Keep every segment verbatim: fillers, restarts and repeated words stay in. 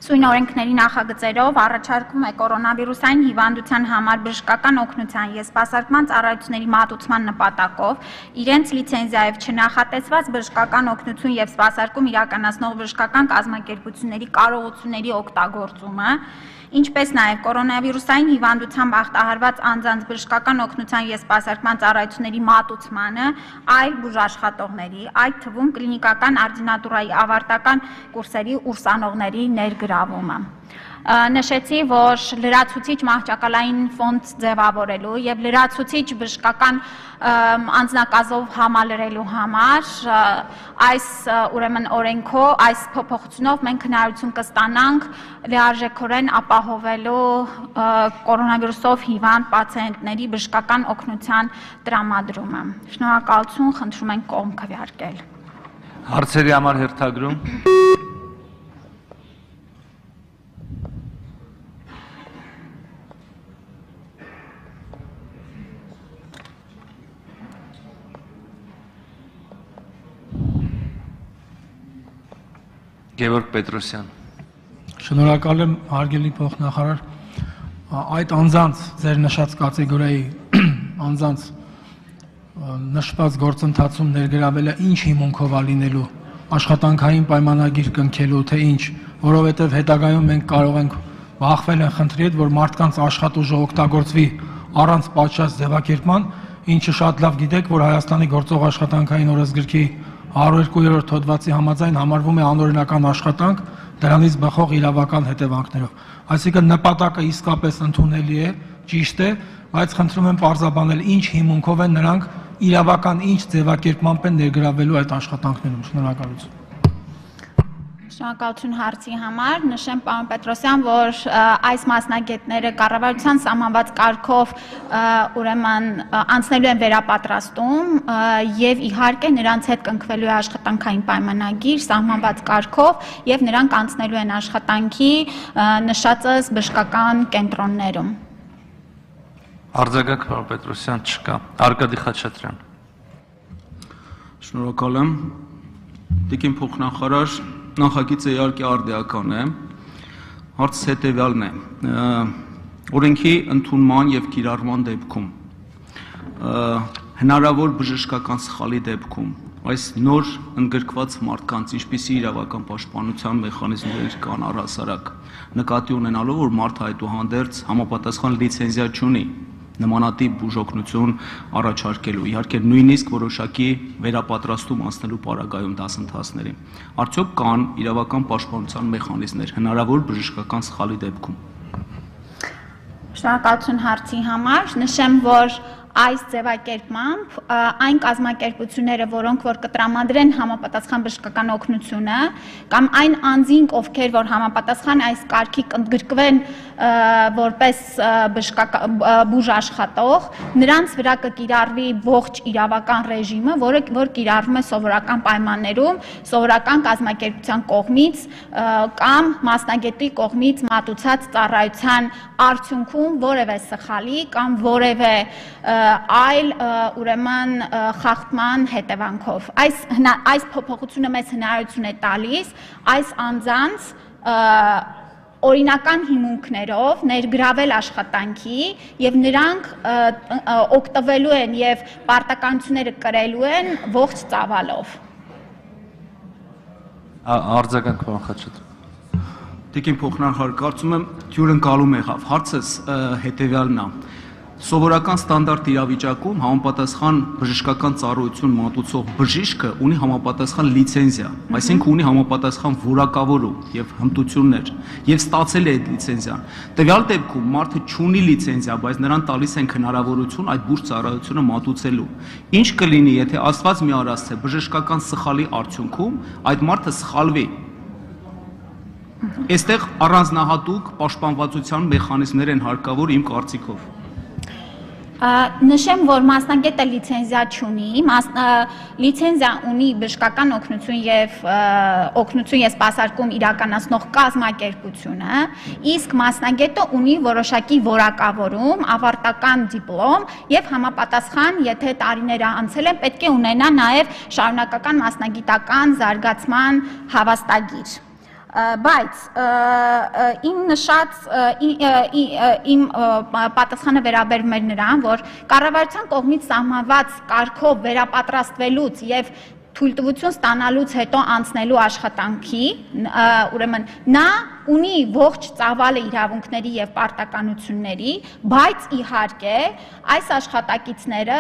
Սույն օրենքների նախագծերով առաջարկում է կորոնավիրուսային հիվանդության համար բժշկական օգնության և սպասարկման ծառայությունների մատուցման նպատակով իրենց լիցենզիայով չնախատեսված բժշկական օգնություն և սպասարկում իրականացնող բժշկական կազմակերպությունների կարողությունների օգտագործումը, ինչպես նաև կորոնավիրուսային հիվանդությամբ ախտահարված անձանց բժշկական օգնության և սպասարկման ծառայությունների մատուցմանը այլ բուժաշխատողների, այդ թվում կլինիկական արդինատուրայի ավարտական կուրսերի ուսանողների ներգրավումը։ Նշեցի, որ լրացուցիչ մահճակալային ֆոնդ ձևավորելու և լրացուցիչ բժշկական անձնակազմով համալրելու համար այս ուրեմն օրենքով, այս փոփոխությունով մենք հնարավորություն կստանանք լիարժեքորեն ապահովելու կորոնավիրուսով հիվանդ պացիենտների բժշկական օգնության տրամադրումը։ Շնորհակալություն, խնդրում ենք կողմ քվեարկել։ Հարցերի համար հերթագրում։ Գևորգ Պետրոսյան։ Շնորհակալ եմ, հարգելի փոխնախարար, այդ անձանց ձեր նշած կատեգորիայի անձանց նշված գործընթացում ներգրավելը ինչ հիմունքով է լինելու, աշխատանքային պայմանագիր կնքելու, թե ինչ, որովհետև հետագայում մենք կարող ենք բախվել են խնդրի հետ, որ մարդկանց աշխատուժը օգտագործվի առանց պատշաճ ձևակերպման, ինչը շատ լավ գիտեք, որ Հայաստանի գործող աշխատանքային օրենսգրքի հարյուր երկու հոդվածի համաձայն համարվում է անօրինական աշխատանք դրանից բխող իրավական հետևանքներով։ Այսինքն նպատակը իսկապես ընդունելի է, ճիշտ է, բայց խնդրում եմ պարզաբանել ինչ հիմունքով են նրանք իրավական ինչ ձևակերպմամբ են ներգրավելու այդ աշխատանքներում։ Շնորհակալություն։ Շնորհակալություն հարցի համար, նշեմ պարոն Պետրոսյան, որ այս մասնագետները կառավարության սահմանված կարգով ուրեմն անցնելու են վերապատրաստում եւ իհարկե նրանց հետ կնքվելու է աշխատանքային պայմանագիր սահմանված կարգով եւ նրանք անցնելու են աշխատանքի նշածս բժշկական կենտրոններում։ Արձագանք պարոն Պետրոսյան չկա։ Արկադի Խաչատրյան։ Շնորհակալ եմ։ Տիկին փոխնախարար, նախագիծը իհարկե արդիական է, հարցը հետևյալն է, օրենքի ընդունման և կիրառման դեպքում, հնարավոր բժշկական սխալի դեպքում, այս նոր ընդգրկված մարդկանց ինչպիսի իրավական պաշտպանության մեխանիզմներ կան առհասարակ, նկատի ունենալով, որ մարդը այդուհանդերձ համապատասխան լիցենզիա չունի նմանատիպ բուժօգնություն առաջարկելու, իհարկե նույնիսկ որոշակի վերապատրաստում անցնելու պարագայում դասընթացների։ Արդյոք կան իրավական պաշտպանության մեխանիզմներ հնարավոր բժշկական սխալի դեպքում։ Շնորհակալություն հարցի համար, նշեմ, որ այս ձևակերպմամբ այն կազմակերպությունները, որոնք որ կտրամադրեն համապատասխան բժշկական օգնությունը, կամ այն անձինք, ովքեր որ համապատասխան այս կարգի կընդգրկվեն որպես բուժ աշխատող, նրանց վրա կկիրառվի ողջ իրավական ռեժիմը, որը որ կիրառվում է սովորական պայմաններում, սովորական կազմակերպության կողմից կամ մասնագետի կողմից մատուցած ծառայության արդյունքում որևէ սխալի կամ որևէ այլ ուրեմն խախտման հետևանքով։ Այս այս փոփոխությունը մեզ հնարավորություն է տալիս այս անձանց օրինական հիմունքներով ներգրավել աշխատանքի եւ նրանք օգտվելու են եւ պարտականությունները կրելու են ողջ ծավալով։ Արձագանք պարոն Խաչատրյան։ Տիկին փոխնախարար, կարծում եմ հյուրընկալում եղավ, հարցս հետևյալն է։ Սովորական ստանդարտ իրավիճակում համապատասխան բժշկական ծառայություն մատուցող բժիշկը ունի համապատասխան լիցենզիա, այսինքն ունի համապատասխան որակավորում եւ հմտություններ եւ ստացել է այդ լիցենզիան։ Տվյալ դեպքում մարդը չունի լիցենզիա, բայց նրան տալիս են հնարավորություն այդ բուժ ծառայությունը մատուցելու։ Ինչ կլինի, եթե Աստված մի արած թե բժշկական սխալի արդյունքում այդ մարդը սխալվի։ Այստեղ առանձնահատուկ պաշտպանվածության մեխանիզմներ են հարկավոր իմ կարծիքով։ Նշեմ, որ մասնագետը լիցենզիա չունի, լիցենզիա ունի բժշկական օգնություն եւ օգնություն եւ սպասարկում իրականացնող կազմակերպությունը, իսկ մասնագետը ունի որոշակի որակավորում, ավարտական դիպլոմ եւ համապատասխան, եթե տարիները անցել են, պետք է ունենա նաեւ շարունակական մասնագիտական զարգացման հավաստագիր։ Բայց իմ նշած իմ պատասխանը վերաբերում էր նրան, որ կառավարության կողմից սահմանված կարգով վերապատրաստվելուց եւ թույլտվություն ստանալուց հետո անցնելու աշխատանքի, ուրեմն նա ունի ողջ ծավալը իրավունքների եւ պարտականությունների, բայց իհարկե այս աշխատակիցները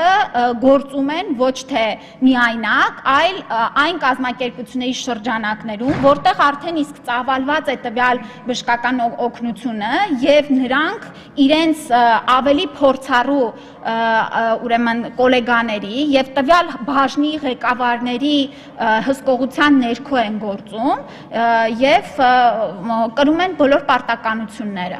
գործում են ոչ թե միայնակ, այլ այն կազմակերպությունների շրջանակներում, որտեղ արդեն իսկ ծավալված է տվյալ բժշկական օգնությունը եւ նրանք իրենց ավելի փորձառու ուրեմն գոլեգաների եւ տվյալ բաժնի ղեկավարների հսկողության ներքո են գործում եւ կրում են բոլոր պարտականությունները։